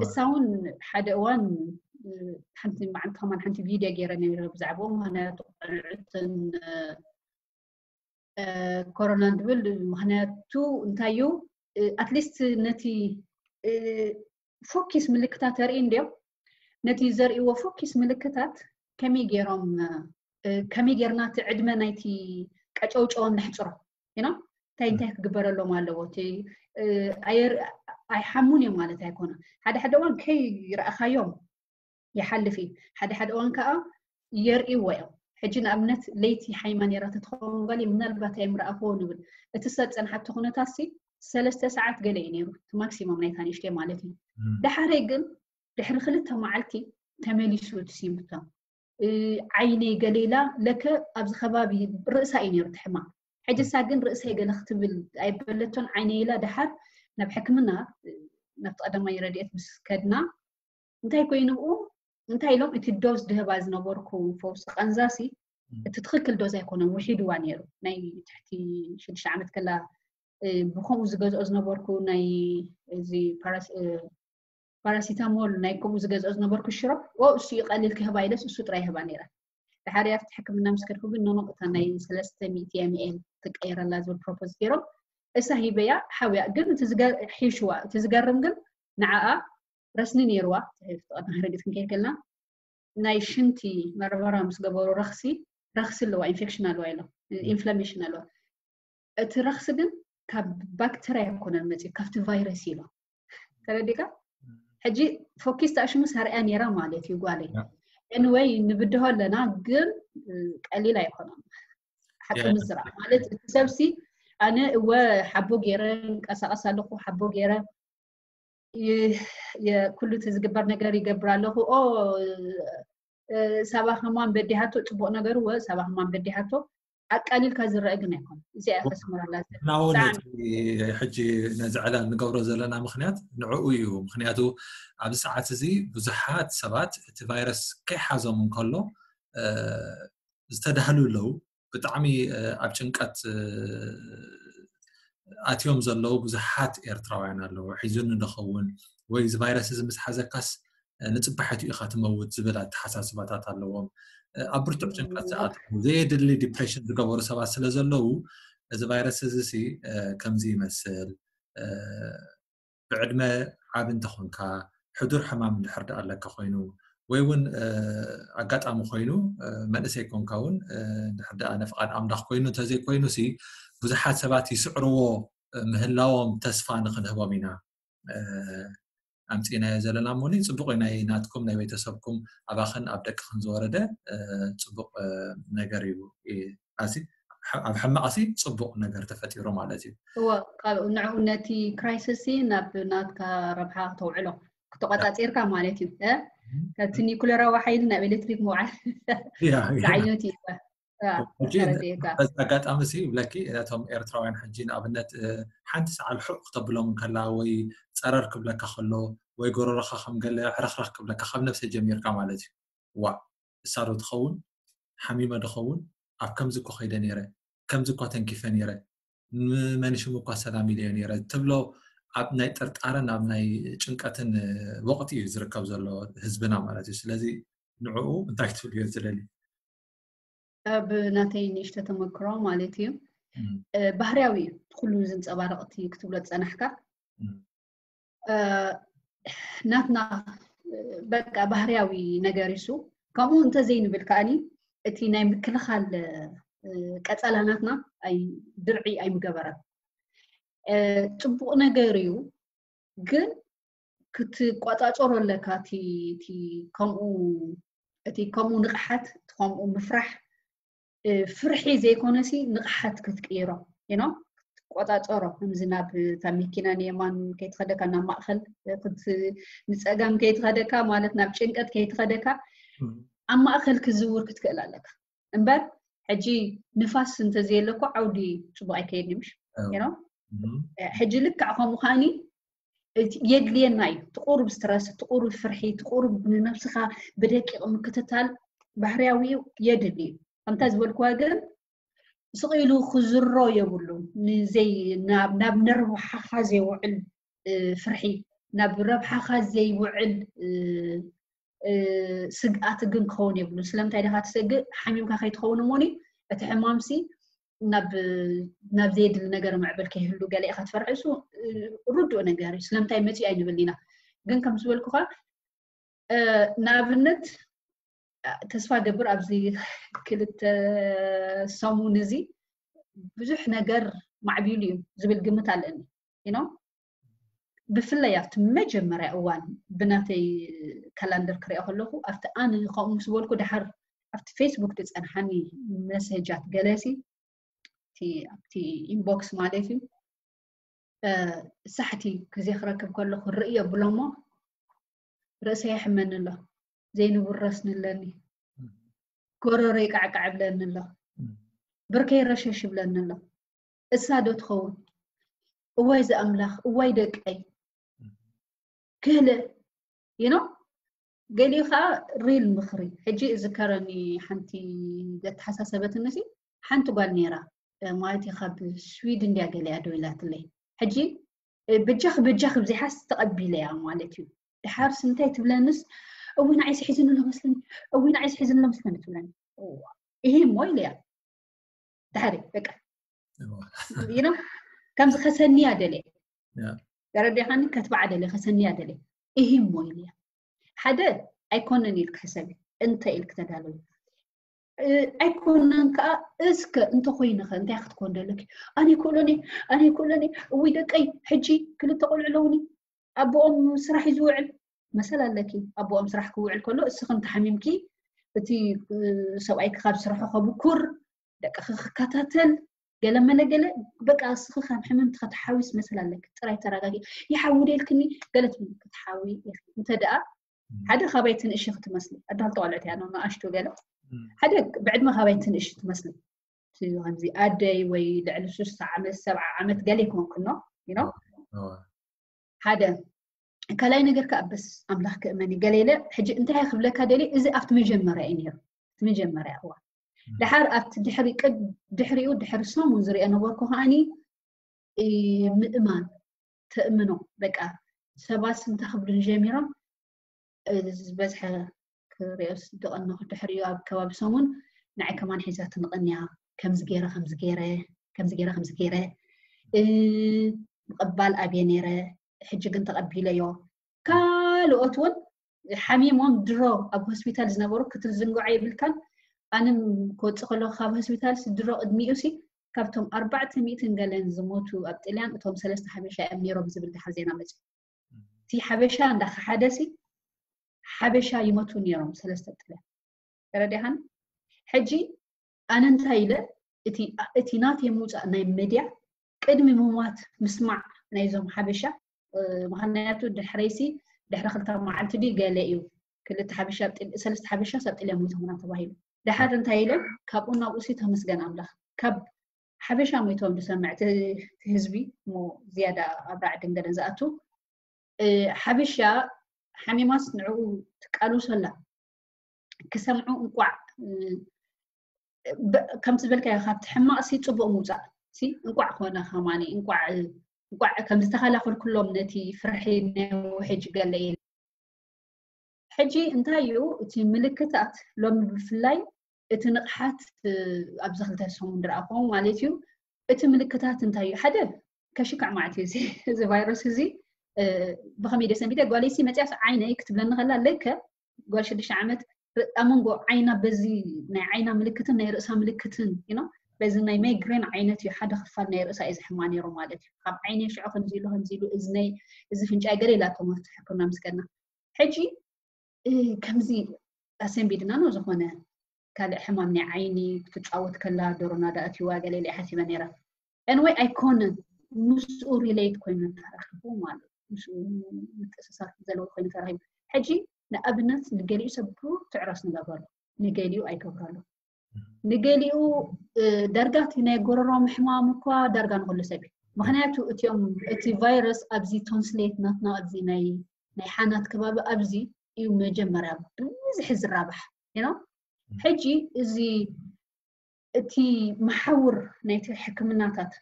እሳ እውን ሓደ እዋን ሓንቲ መዓልቲ ከማን ሓንቲ ቪድዮ ገይረ ነይረ ብዛዕባኡ ምክንያቱ ቆልዑትን ኮሮና ንብል ምክንያቱ እንታይ እዩ ኣትሊስት ነቲ ፎኪስ ምልክታት ተርኢ እንዲዮም ነቲ ዘርእዎ ፎኪስ ምልክታት ከመይ ገይሮም ከመይ ገይርና እቲ ዕድመ ናይቲ ቀጨውጨዎም ነሕፅሮ ና እንታይ እንታይ ክግበረሎም ኣለዎ እቲ ኣይሓሙን እዮም ማለት ኣይኮነ ሓደ ሓደ እዋን ከይረእኻዮም ይሓልፍ እዩ ሓደ ሓደ እዋን ከዓ የርእይዎ እዮም ሕጂ ንኣብነት ለይቲ ሓይማ ነራ ተትኸውን ጓል ምናልባት ኣይምረኣኽዎ ንብል እቲ ሰብ ፀንሓቲ ኩነታት ሲ ሰለስተ ሰዓት ገለ እዩ ነይሩ ማክሲሞም ናይታ ንእሽተይ ማለት እዩ ደሓረይ ግን ድሕሪ ክልተ መዓልቲ ተመሊሱ እቲ ሲምፕቶም ዓይነይ ገሌላ ለከ ኣብዚ ከባቢ ርእሳ እዩ ነይሩ ትሕማ ሕጂ ሳ ግን ርእሰይ ገለ ክትብል ኣይበለቶን ዓይነይ ኢላ ደሓር ናብ ሕክምና ናብቲ ቀዳማይ ረድኤት ምስ ከድና እንታይ ኮይኑ ብኡ እንታይ ኢሎም እቲ ዶዝ ድህባ ዝነበርኩ ፈውሲ ቀንዛሲ እቲ ትኽክል ዶዝ ኣይኮነን ውሒድዋ ነይሩ ናይ ትሕቲ ሽዱሽተ ዓመት ከላ ብከምኡ ዝገዝኦ ዝነበርኩ ናይ እዚ ፓራሲታሞል ናይ ከምኡ ዝገዝኦ ዝነበርኩ ሽሮ እሱ ይቀልል ክህባ ኢለስ እሱ ጥራይ ይህባ ነይራ ድሓር ኣብቲ ሕክምና ምስ ከድኩ ግን ኖኖ እታ ናይ ሰለስተ ሚእቲ ኤምኤል ትቀይረላ ዝብል ፕሮፖዝ ገይሮም እሳ ሂበያ ሓውያ ግን ሒሽዋ እቲ ዝገርም ግን ንዓኣ ረስኒ ነይርዋ ተቀድና ክረግፅ ክንከይድ ከልና ናይ ሽንቲ መርመራ ምስ ገበሩ ረክሲ ረክሲ ኣለዋ ኢንፌክሽን ኣለዋ ኢሎም ኢንፍላሜሽን ኣለዋ እቲ ረክሲ ግን ካብ ባክተርያ ኣይኮነን መፅኡ ካብቲ ቫይረስ ኢሎም ተረዲካ ሕጂ ፎኪስ ተኣሽሙ ሰርያ ነይራ ማለት እዩ ጓለይ ኤንወይ ንብድሆ ኣለና ግን ቀሊል ኣይኮነን ሓቂ ምዝራብ ማለት እቲ ሰብሲ ኣነ እወ ሓቦ ገይረ ንቀሳቀስ ኣለኩ ሓቦ ገይረ ኩሉ እቲ ዝግበር ነገር ይገብር ኣለኹ ኦ ሳባ ከማን በዲሃቶ ፅቡቅ ነገር ወ ሳባ ከማን በዲሃቶ ኣቃሊልካ ዝረአ ግን ኣይኮን እዚኣ ከስምረላ ናውን ሕጂ ነዚ ዕላል ንገብሮ ዘለና ምክንያት ንዕኡ እዩ ምክንያቱ ኣብዚ ሰዓት እዚ ብዙሓት ሰባት እቲ ቫይረስ ከይሓዞም እንከሎ ዝተዳህሉ ኣለዉ ብጣዕሚ ኣብ ጭንቀት ኣትዮም ዘለዉ ብዙሓት ኤርትራውያን ኣለዉ ሒዙኒ ንኸውን ወይ እዚ ቫይረስ እዚ ምስ ሓዘካስ ንፅባሒቱ ኢኻ ትመውት ዝብል ኣተሓሳስባታት ኣለዎም ኣብ ብርቱዕ ጭንቀት ዝኣትዉ ዘየድሊ ዲፕሬሽን ዝገበሩ ሰባት ስለ ዘለዉ እዚ ቫይረስ እዚ ሲ ከምዚ ይመስል ብዕድመ ዓብ እንተኾንካ ሕዱር ሕማም እንድሕር ደኣ ኣለካ ኮይኑ ወይ እውን ኣጋጣሚ ኮይኑ መንእሰይ ኮንካ እውን እንድሕር ደኣ ንፍቓድ ኣምላኽ ኮይኑ እንተዘይኮይኑ ሲ ብዙሓት ሰባት ይስዕርዎ ምህላዎም ተስፋ ንክንህቦም ኢና ኣምፂእናዮ ዘለና እሞ ጽቡቅ እዩ ናይ ናትኩም ናይ ቤተሰብኩም ኣባኽን ኣብ ደቅኽን ዝወረደ ጽቡቅ ነገር እዩ ኣዚ ኣብ ሕማቅ ሲ ጽቡቅ ነገር ተፈጢሩ ማለት እዩ እወ ካብኡ ንዕኡ ነቲ ክራይሲስ ናብ ናትካ ረብሓ ክተውዕሎ ክተቆጻጺርካ ማለት እዩ እ? ካብቲ ኒኩለራዊ ሓይሊ ናብ ኤሌክትሪክ ምውዓል ያ ያ ዝዓይነቱ እዩ ሕጂ ተረዲእካ በዚ ኣጋጣሚ ሲ ይብለኪ ነቶም ኤርትራውያን ሕጂ ንኣብነት እ፣ ሓንቲ ሰዓል ሑቕ ክተብሎም እንከላ ወይ ጸረር ክብለካ ከሎ ወይ ጎረሮኻ ከም ገለ ሕረኽረኽ ክብለካ ካብ ነብሰ ጀሚርካ ማለት እዩ ዋ እሳ ዶ ትኸውን ሓሚመ ዶ ኸውን ኣብ ከምዚ እኮ ከይደ ነይረ ከምዚ እኳ ተንኪፈ ነይረ ንመን ሽሙ እኳ ሰላም ኢለዮ ነይረ ትብሎ ኣብ ናይ ጥርጣረን ኣብ ናይ ጭንቀትን ወቕቲ እዩ ዝርከብ ዘሎ ህዝብና ማለት እዩ ስለዚ ንዕኡ እንታይ ክትብልዮ ትደሊ ኣብ ናተይ ንእሽተ ተመክሮ ማለት እዩ ባህርያዊ እዩ ኩሉ ዝንፀባረቕ እቲ ክትብሎ ዝፀናሕካ ናትና በቃ ባህርያዊ ነገር እሱ ከምኡ እንተዘይንብል ከኣኒ እቲ ናይ ምክልኻል ቀፀላ ናትና ድርዒ ኣይምገበረን ፅቡቕ ነገር እዩ ግን ክትቆፃፀሮ ኣለካ እቲ ከምኡ እቲ ከምኡ ንቕሓት እቲ ከምኡ ምፍራሕ ፍርሒ ዘይኮነሲ ንቕሓት ክትቅይሮ ኖ ክትቆፃፀሮ ከምዚ ናብ እታ መኪና ንየማን ከይትኸደካ ናብ ማእኸል ንፀጋም ከይትኸደካ ማለት ናብ ጭንቀት ከይትኸደካ ኣብ ማእኸል ክዝውር ክትክእል ኣለካ እምበር ሕጂ ንፋስ እንተዘየለኮ ዓውዲ ፅቡቅ ኣይከየድን ምሽ ሕጂ ልክዕ ከምኡ ከዓኒ የድልየና እዩ ትቁሩብ ስትረስ ትቁሩብ ፍርሒ ትቁሩብ ንነብስኻ ብደቂቕ ምክትታል ባህርያዊ እዩ፣ የድሊ እዩ። ከምታ ዝበልኩዋ ግን ስቕ ኢሉ ክዝሮ የብሉ። ንዘይ ናብ ናብ ነርብሓኻ ዘይውዕል እ፣ ፍርሒ፣ ናብ ረብሓኻ ዘይውዕል እ፣ እ፣ ስግኣት ግን ክኸውን የብሉን። ስለምንታይ ዲኻ ትሰግእ? ሓሚምካ ከይትኸውን እሞኒ እቲ ሕማምሲ ናብ ናብ ዘየድሊ ነገር ምዕብል ከይህሉ ገለ ኢኻ ትፈርሕ። እሱ እ፣ ርዱእ ነገር እዩ። ስለምንታይ መፂኡ ኣይንብል ኢና። ግን ከም ዝበልኩኻ እ፣ ንኣብነት እ፣ ተስፋ ገብር ኣብዚ ክልተ ሰሙን እዚ ብዙሕ ነገር ማዕቢሉ እዩ ዝብል ግምት ኣለኒ። You know? ብፍላይ ኣብቲ መጀመርያ እዋን ብናተይ ካላንደር ክሪኦ ከለኹ ኣብቲ ኣነ ከምኡ ምስ በልኩ ድሓር ኣብቲ ፌስቡክ ዝፀንሓኒ መሰጃት ገለሲ እቲ ኣብቲ ኢንቦክስ ማለት እዩ እ፣ ሳሕቲ ግዜ ክረክብ ከለኹ ርእዮ ብሎሞ ርእሰይ የሕመኒ ኣሎ፣ ዘይንቡር ረስኒ ኣለኒ፣ ጎረሮ ይቃዕቃዕ ብለኒ ኣሎ፣ ብርከይ ረሸሽ ብለኒ ኣሎ። እሳ ዶ ትኸውን? እዋይ ዝኣምላኽ፣ እዋይ ደቀይ ክህለ ይኖ ገሊኡ ከዓ ሪል ምኽሪ። ሕጂ እዝከረኒ ሓንቲ ዘተሓሳሰበትኒ ሲ ሓንቲ ጓል ነይራ፣ እ፣ ማለት እዩ ካብ ስዊድን እንድያ ገሊኣ ደው ኢላትለይ። ሕጂ እ፣ በጃኺ በጃኺ ብዘይሓስ ተቐቢለያ ማለት እዩ። ድሓርስ እንታይ ትብለንስ፣ እዊ ንዓይስ ሒዝኒ ኣሎ መስለኒ፣ እዊ ንዓይስ ሒዝኒ ኣሎ መስለኒ ትብለኒ። እዋ፣ ይሄ እሞ ኢለያ። ድሓሪ በቃ ይኖ ከምዚ ከሰንያ ደልየ ተረዲኻኒ፣ ከትባዓ ደልየ፣ ከሰንያ ደልየ። ይሄ እሞ ኢለያ። ሓደ ኣይኮነን ኢልክ ሕሰቢ፣ እንተ ኢልክ ተዳለዊ። እ፣ ኣይኮነን ከዓ እስከ እንተኮይንኸ እንታይ ክትኮን ደለኪ? ኣነ ይክእሎኒ፣ ኣነ ይክእሎኒ። እውይ ደቀይ፣ ሕጂ ክልተ ቆልዑ ኣለውኒ፣ ኣቦኦም ስራሕ እዩ ዝውዕል። መሰል ኣለኪ፣ ኣቦኦም ስራሕ ክውዕል ከሎ እስኺ እንተሓሚምኪ እቲ እ፣ ሰብኣይኪ ካብ ስርሑ ከብኩር፣ ደቅኺ ክከታተል፣ ገለ መለ ገለ፣ በቃ እስኺ ካብ ሕምምቲ ከተሓዊስ መሰል ኣለኪ። ጥራይ ተረጋጊ። ይሓዊ ደልክኒ ገለ ትብል ክትሓዊ ኢኺ። እንተ ደኣ ሓደ ካባይ ትንእሺ ክትመስሊ፣ ኣዳል ተቆልዕት እያ፣ ንኣሽቱ ገለ። ሓደ ብዕድመ ካባይ ትንእሺ ትመስሊ። እቲ ከምዚ ኣደይ ወይ ልዕሊ ስሳ ዓመት፣ ሰብዓ ዓመት ገለ ይኮንኩኖ፣ you know? ሓደ ካልኣይ ነገር ከኣ በስ ኣምላኽ ክእመን እዩ። ገለ ኢለ ሕጂ እንታይ ክብለካ ደልየ፣ እዚ ኣብቲ መጀመርያ እዩ ነይሩ። እቲ መጀመርያ እዋን። ድሓር ኣብቲ ድሕሪ ቅድ-፣ ድሕሪኡ ድሕሪ ሰሙን ዝሪኦ ነበርኩ ከኣኒ፣ እ፣ ምእማን፣ ተእምኖ፣ በቃ ሰባት እንታይ ክብሉኒ ጀሚሮም፣ እ፣ ዝበዝሐ ክሪኦስ ዝቐነኹ ድሕሪኡ ኣብ ከባቢ ሰሙን ንዓይ ከማን ሒዛትኒ ቀንያ፣ ከምዚ ገይረ፣ ከምዚ ገይረ፣ ከምዚ ገይረ፣ ከምዚ ገይረ፣ እ፣ ምቕባል ኣብየ ነይረ፣ ሕጂ ግን ተቐቢለዮ። ካልኦት እውን ሓሚሞም ድሮ ኣብ ሆስፒታል ዝነበሩ ክትዝንግዖ የብልካን። ኣነ ክወፅእ ከለኹ ካብ ሆስፒታል ሲ ድሮ ቅድሚኡ ሲ ካብቶም ኣርባዕተ ሚእትን ገለን ዝሞቱ ኣብ ጥልያን እቶም ሰለስተ ሓበሻ እዮም ነይሮም ዝብል ድሓር ዜና መፅዩ። እቲ ሓበሻ እንዳኸሓደ ሲ ሓበሻ ይመቱ ነይሮም ሰለስተ ጥልያን። ተረዲኻን? ሕጂ ኣነ እንታይ ኢለ እቲ እቲ ናተይ ምውፃእ ናይ መድያ ቅድሚ ምማት ምስማዕ ናይዞም ሓበሻ እ፣ ምኽንያቱ ድሕረይሲ ድሕሪ ክልተ መዓልቲ ድዩ ገለ እዩ ክልተ ሓበሻ ኣብ ጥል-፣ ሰለስተ ሓበሻ ኣብ ጥልያን ሞይቶምና ተባሂሉ። ድሓር እንታይ ኢለ ካብኡ ናብኡ ሲ ተመስገን ኣምላኽ ካብ ሓበሻ ሞይቶም ዝሰምዕ እቲ እቲ ህዝቢ እሞ ዝያዳ ኣብ ራዕድን ገለን ዝኣቱ እ፣ ሓበሻ ሓሚማስ ንዕኡ ትቃለሶ ኣላ ክሰምዑ እንቋዕ እ፣ በ-፣ ከምቲ ዝበልካዮ ካብቲ ሕማቕ ሲ ፅቡቕ ምውፃእ ሲ እንቋዕ ኮነ ከማኒ እንቋዕ እንቋዕ ከም ዝተኸላኸልኩሎም ነቲ ፍርሒ ናይ ውሕጅ ገለ ኢለ። ሕጂ እንታይ እዩ እቲ ምልክታት ሎሚ ብፍላይ እቲ ንቕሓት እ፣ ኣብዚ ክልተ ሰሙን ዝረኣኹዎ ማለት እዩ። እቲ ምልክታት እንታይ እዩ? ሓደ ከሽክዕ ማለት እዩ እዚ እዚ ቫይረስ እዚ እ፣ ብኸመይ ደሰንቢደ ጓለይሲ መፅያስ ዓይነይ ክትብለኒ ከላ ለከ ጓል ሽዱሽተ ዓመት ር-፣ ኣብ መንጎ ዓይና በዚ ናይ ዓይና ምልክትን ናይ ርእሳ ምልክትን you know በዚ ናይ ማይግሬን ዓይነት እዩ ሓደ ክፋል ናይ ርእሳ እዩ ዝሕማ ነይሩ ማለት እዩ። ካብ ዓይነይ ሽዑ ከምዚ ኢሉ ከምዚ ኢሉ እዝነይ እዚ ፍንጫይ ገለ ኢላቶም ኣብቲ ሕክምና ምስ ከድና ሕጂ እ፣ ከምዚ ኣሰንቢድና ነው ዝኾነ ካልእ ሕማም ናይ ዓይኒ ክትጫወት ከላ ዶሮና ዳኣትዋ ገለ ኢለ ሓሲበ ነይረ። Anyway ኣይኮነን ምስኡ ሪሌት ኮይኑ ተራኺቡ ማለት ምስኡ ምትእስሳር ዘለዎ ኮይኑ ተራኺቡ። ሕጂ ንኣብነት ንገሊኡ ሰብ ብርቱዕ ራስ ንገብረሉ ንገሊኡ ኣይገብረሉ ንገሊኡ እ፣ ዳርጋ እቲ ናይ ጎረሮ ምሕማም እኳ ዳርጋ ንኩሉ ሰብ እዩ። ምክንያቱ እቲኦም እቲ ቫይረስ ኣብዚ ቶንስሌት ናትና ኣብዚ ናይ ናይ ሓናት ከባቢ ኣብዚ እዩ መጀመርያ ብዝሒ ዝራባሕ you know ሕጂ እዚ እቲ መሓውር ናይቲ ሕክምናታት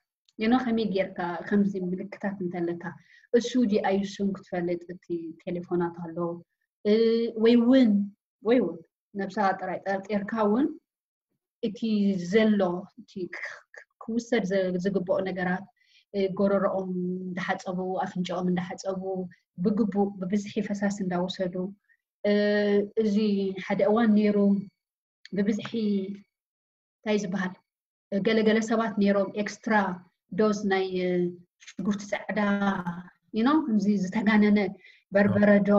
ኖ ከመይ ጌርካ ከምዚ ምልክታት እንተለካ እሱ ዲ ኣይሱን ክትፈልጥ እቲ ቴሌፎናት ኣሎ ወይ እውን ወይ እውን ነብስኻ ጥራይ ጠርጢርካ እውን እቲ ዘሎ እቲ ክውሰድ ዝግብኦ ነገራት ጎረሮኦም እንዳሓፀቡ ኣፍንጫኦም እንዳሓፀቡ ብግቡእ ብብዝሒ ፈሳሲ እንዳወሰዱ እዚ ሓደ እዋን ነይሩ ብብዝሒ እንታይ ዝበሃል ገለገለ ሰባት ነይሮም ኤክስትራ ዶዝ ናይ ሽጉርቲ ፃዕዳ ኖ ከምዚ ዝተጋነነ በርበረዶ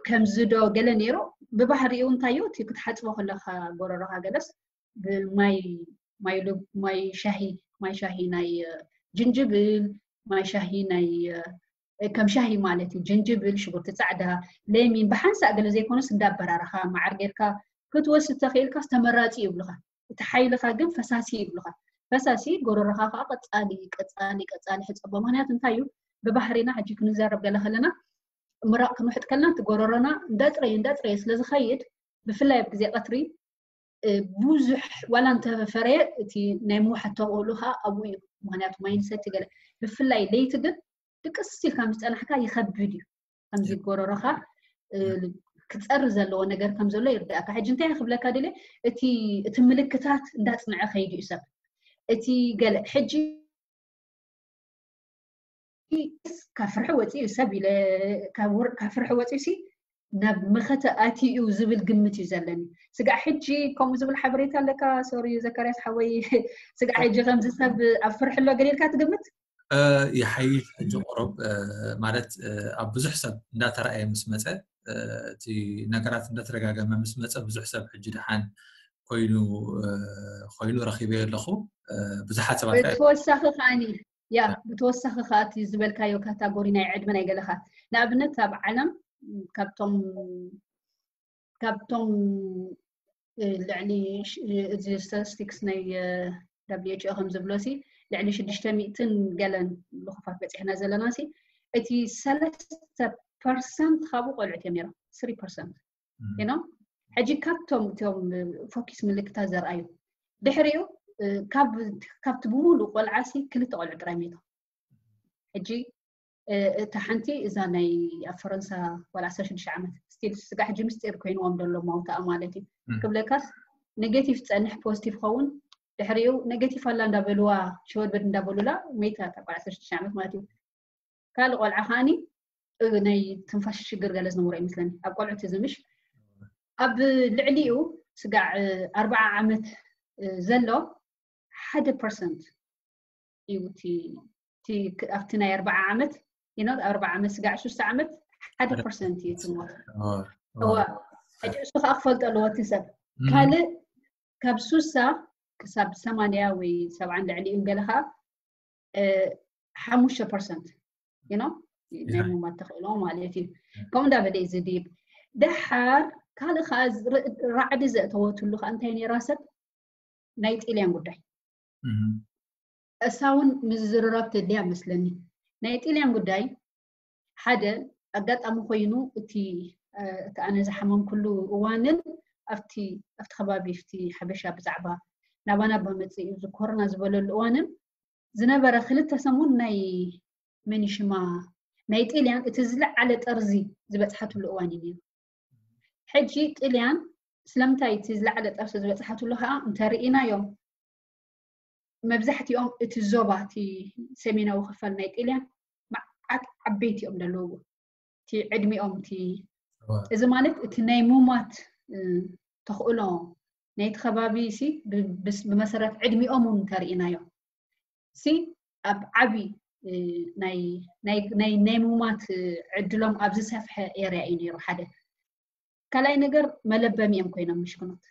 ከምዚ ዶ ገለ ነይሩ ብባህሪኡ እንታዩ እቲ ክትሓፅቦ ከለካ ጎረሮካ ገለስ ብማይ ማይ ሻሂ ማይ ሻሂ ናይ ጅንጅብል ማይ ሻሂ ናይ ከም ሻሂ ማለት እዩ ጅንጅብል ሽጉርቲ ፃዕዳ ለሚን ብሓንሳእ ገለ ዘይኮነስ እንዳበራረካ መዓር ጌርካ ክትወስድ ተኽኢልካ ዝተመራፂ ይብሉካ እቲ ሓይልካ ግን ፈሳሲ ይብሉካ ፈሳሲ ጎረሮካ ከዓ ቀፃሊ ቀፃሊ ቀፃሊ ሕፀቦ ምክንያቱ እንታይ እዩ ብባህሪና ሕጂ ክንዘረብ ገለ ከለና ምራቕ ክንውሕጥ ከለና እቲ ጎረሮና እንዳፅረየ እንዳፅረየ ስለዝኸይድ ብፍላይ ኣብ ግዜ ቀትሪ ብዙሕ ዋላ እንተፈረየ እቲ ናይ ምውሓት ተኽእሎ ከዓ ኣብኡ እዩ ምክንያቱ ማይ ንሰቲ ገለ ብፍላይ ለይቲ ግን ድቅስ ኢልካ ምስ ፀናሕካ ይኸብድ እዩ ከምዚ ጎረሮኻ ክፀሪ ዘለዎ ነገር ከም ዘሎ ይርዳእካ ሕጂ እንታይ ክብለካ ድለ እቲ እቲ ምልክታት እንዳፅንዐ ከይዱ እዩ ሰብ እቲ ገለ ሕጂ ካብ ፍርሒ ወፂኡ ሰብ ኢለ ካብ ፍርሒ ወፂኡ ሲ ናብ መኸተ ኣትዩ ዝብል ግምት እዩ ዘለኒ ስጋዕ ሕጂ ከምኡ ዝብል ሓበሬታ ኣለካ ሶሪ ዘካርያስ ሓወይ ስጋዕ ሕጂ ከምዚ ሰብ ኣብ ፍርሒ ኣሎ ገሊልካ ትግምት ይሓይሽ ሕጂ ቁሩብ ማለት ኣብ ብዙሕ ሰብ እንዳተረኣየ ምስ መፀ እቲ ነገራት እንዳተደጋገመ ምስ መፀ ብዙሕ ሰብ ሕጂ ድሓን ኮይኑ ኮይኑ ረኪበዮ ኣለኹ ብዙሓት ሰባት ተወሳኺ ከዓኒ ያ ብተወሳኺ ከዓ እቲ ዝበልካዮ ካታጎሪ ናይ ዕድመ ናይ ገለካ ንኣብነት ኣብ ዓለም ካብቶም ካብቶም ልዕሊ እዚ ስታቲስቲክስ ናይ WHO ከም ዝብሎ ሲ ልዕሊ ሽዱሽተ ሚእትን ገለን ልኹፋት በፂሕና ዘለና ሲ እቲ ሰለስተ ፐርሰንት ካብኡ ቆልዑት እዮም ነይሮም ስሪ ፐርሰንት ኖ ሕጂ ካብቶም እቶም ፎኪስ ምልክታት ዘርኣዩ ድሕሪኡ ካብቲ ብምሉእ ቆልዓ ሲ ክልተ ቆልዑ ጥራይ ሜቶም ሕጂ እታ ሓንቲ እዛ ናይ ኣብ ፈረንሳ ዋላ ዓሰርተ ሽዱሽተ ዓመት ስቲል ስጋ ሕጂ ምስጢር ኮይንዎም ዘሎ ማውታኣ ማለት እዩ ክብለካስ ኔጌቲቭ ፀንሕ ፖዚቲቭ ኸውን ድሕሪኡ ኔጌቲቭ ኣላ እንዳበልዋ ሸወድበድ እንዳበሉላ ሜታ ታ ዓሰርተ ሽዱሽተ ዓመት ማለት እዩ ካልእ ቆልዓ ከዓኒ ናይ ትንፋሽ ሽግር ገለ ዝነበሮ ይመስለኒ ኣብ ቆልዑ ትዝምሽ ኣብ ልዕሊኡ ስጋዕ ኣርባዓ ዓመት ዘሎ ሓደ ፐርሰንት እዩ ኣብቲ ናይ ኣርባዓ ዓመት ኣርባዓ ዓመት ስጋዕ ሽዱሽተ ዓመት ሓደ ፐርሰንት እዩ ትሞት እዋ ሕጂ እሱ ከዓ ክፈልጦ ኣለዎ እቲ ሰብ ካልእ ካብ ሱሳ ክሳብ ሰማንያ ወይ ሰብዓን ልዕሊኡን ገለ ከዓ ሓሙሽተ ፐርሰንት ናይ ምማት ተኽእሎ ማለት እዩ ከምኡ እንዳበለ እዩ ዝድይብ ደሓር ካልእ ከዓ ራዕዲ ዘእተወትሉ ከዓ እንታይ ነይራ ሰብ ናይ ጢልያን ጉዳይ እሳ እውን ምዝርራብ ተድልያ መስለኒ ናይ ጢልያን ጉዳይ ሓደ ኣጋጣሚ ኮይኑ እቲ እቲ ኣነ ዝሓመምኩሉ እዋንን ኣብቲ ኣብቲ ከባቢ ኣብቲ ሓበሻ ብዛዕባ ናባና በመፅእ እዩ ዝኮርና ዝበለሉ እዋንን ዝነበረ ክልተ ሰሙን ናይ መኒሽማ ናይ ጥልያን እቲ ዝለዓለ ጠርዚ ዝበፅሓትሉ እዋን እዩ ነይሩ ሕጂ ጥልያን ስለምንታይ እቲ ዝለዓለ ጠርዚ ዝበፅሓትሉ ከዓ እንተርኢናዮም መብዛሕትኦም እቲ ዞባ እቲ ሰሜናዊ ክፋል ናይ ጥልያን መዓት ዓበይቲ እዮም ዘለውዎ እቲ ዕድሚኦም እቲ እዚ ማለት እቲ ናይ ሙማት ተኽእሎ ናይቲ ከባቢ ሲ ብመሰረት ዕድሚኦም እውን እንተርኢናዮ ሲ ኣብ ዓቢ ናይ ናይ ናይ ሙማት ዕድሎም ኣብ ዝሰፍሐ ኤርያ እዩ ነይሩ ሓደ ካልኣይ ነገር መለበሚ እዮም ኮይኖም ምሽክኖት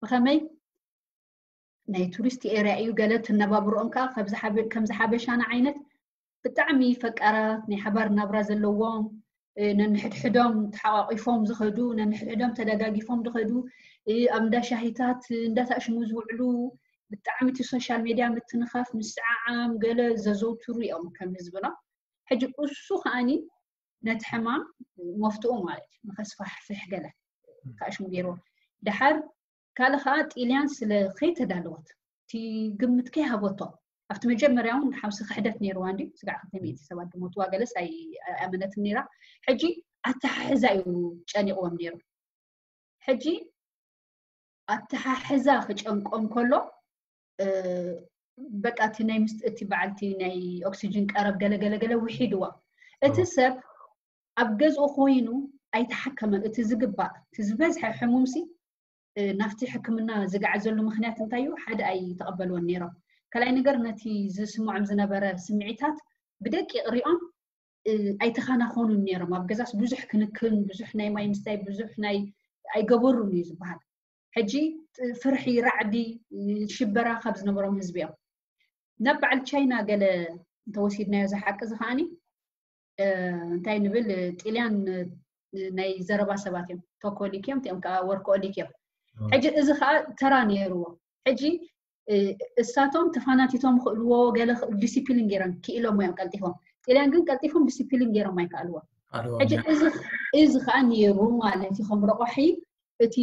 ብኸመይ ናይ ቱሪስት ኤርያ እዩ ገለ ትነባብርኦም ከዓ ከምዚ ሓበሻና ዓይነት ብጣዕሚ ፈቃራት ናይ ሓባር ናብራ ዘለዎም ነንሕድሕዶም ተሓቋቂፎም ዝኸዱ ነንሕድሕዶም ተደጋጊፎም ዝኸዱ ኣብ እንዳ ሻሂታት እንዳታሽሙ ዝውዕሉ ብጣዕሚ እቲ ሶሻል ሜድያ ምትንኻፍ ምስዓዓም ገለ ዘዘውትሩ እዮም ከም ህዝብና ሕጂ እሱ ከዓኒ ነቲ ሕማም መፍትኡ ማለት እዩ ንከስፋሕፍሕ ገለ ካእሽሙ ገይርዎ ድሓር ካልእ ከዓ ጢልያን ስለ ከይተዳለወት እቲ ግምት ከይሃበቶ ኣብቲ መጀመርያ እውን ሓምሲ ክሕደት ነይርዋ እንዲ ስጋዕ ክልተ ሚእቲ ሰባት ዝሞትዋ ገለስ ኣይኣመነትን ነይራ። ሕጂ ኣተሓሕዛ እዩ ጨኒቕዎም ነይሩ። ሕጂ ኣተሓሕዛ ክጨንቆም ከሎ በቃ እቲ ናይ ምስጥ እቲ በዓልቲ ናይ ኦክሲጅን ቀረብ ገለገለገለ ውሒድዋ። እቲ ሰብ ኣብ ገዝኡ ኮይኑ ኣይተሓከመን። እቲ ዝግባእ እቲ ዝበዝሐ ሕሙም ሲ ናብቲ ሕክምና ዝገዓዘሉ ምክንያት እንታይ እዩ? ሓደ ኣይተቐበልዎን ነይሮም። ካልኣይ ነገር ነቲ ዝስምዖም ዝነበረ ስምዒታት ብደቂቕ ሪኦም ኣይተኻናኾኑን ነይሮም። ኣብ ገዛስ ብዙሕ ክንክን፣ ብዙሕ ናይ ማይ ምስታይ፣ ብዙሕ ናይ ኣይገበሩን እዩ ዝበሃል። ሕጂ ፍርሒ፣ ራዕዲ፣ ሽበራ ካብ ዝነበሮም ህዝቢ እዮም። ናብ በዓል ቻይና ገለ እንተወሲድናዮ ዝሓቂ እዚ ከዓኒ እንታይ ንብል ጢልያን ናይ ዘረባ ሰባት እዮም። ቶኮሊክ እዮም፣ እቲኦም ከዓ ወርኮሊክ እዮም። ሕጂ እዚ ከዓ ተራ ነይርዎ። ሕጂ እሳቶም ተፋናቲቶም ክእልዎ ገለ ዲሲፕሊን ገይሮም ክኢሎም እዮም ቀልጢፎም። ጢልያን ግን ቀልጢፎም ዲሲፕሊን ገይሮም ኣይከኣልዎ። ሕጂ እዚ ከዓ ነይሩ ማለት እዩ። ከም ረቋሒ እቲ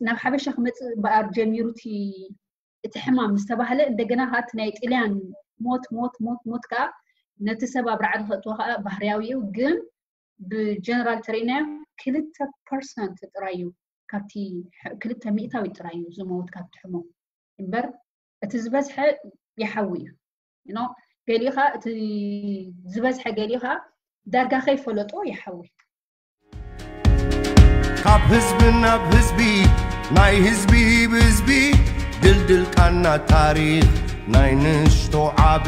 ናብ ሓበሻ ክመፅእ በኣር ጀሚሩ እቲ ሕማም ምስ ተባህለ እንደገና ከዓ እቲ ናይ ጢልያን ሞት ሞት ሞት ሞት ከዓ ነቲ ሰብ ኣብ ራዕዲ ከእትዎ ከዓ ባህርያዊ እዩ። ግን ብጀነራል ተሪእናዮ ክልተ ፐርሰንት ጥራይ እዩ ካብቲ ክልተ ሚእታዊት ጥራይ እዩ ዝመውት ካብቲ ሕሙም እምበር እቲ ዝበዝሐ ይሓዊ እዩ። ገሊኡ ከዓ እቲ ዝበዝሐ ገሊኡ ከዓ ዳርጋ ከይፈለጦ ይሓዊ። ካብ ህዝቢ ናብ ህዝቢ ናይ ህዝቢ ብህዝቢ ድልድል ቃና ታሪኽ ናይ ንሽቶ ዓቢ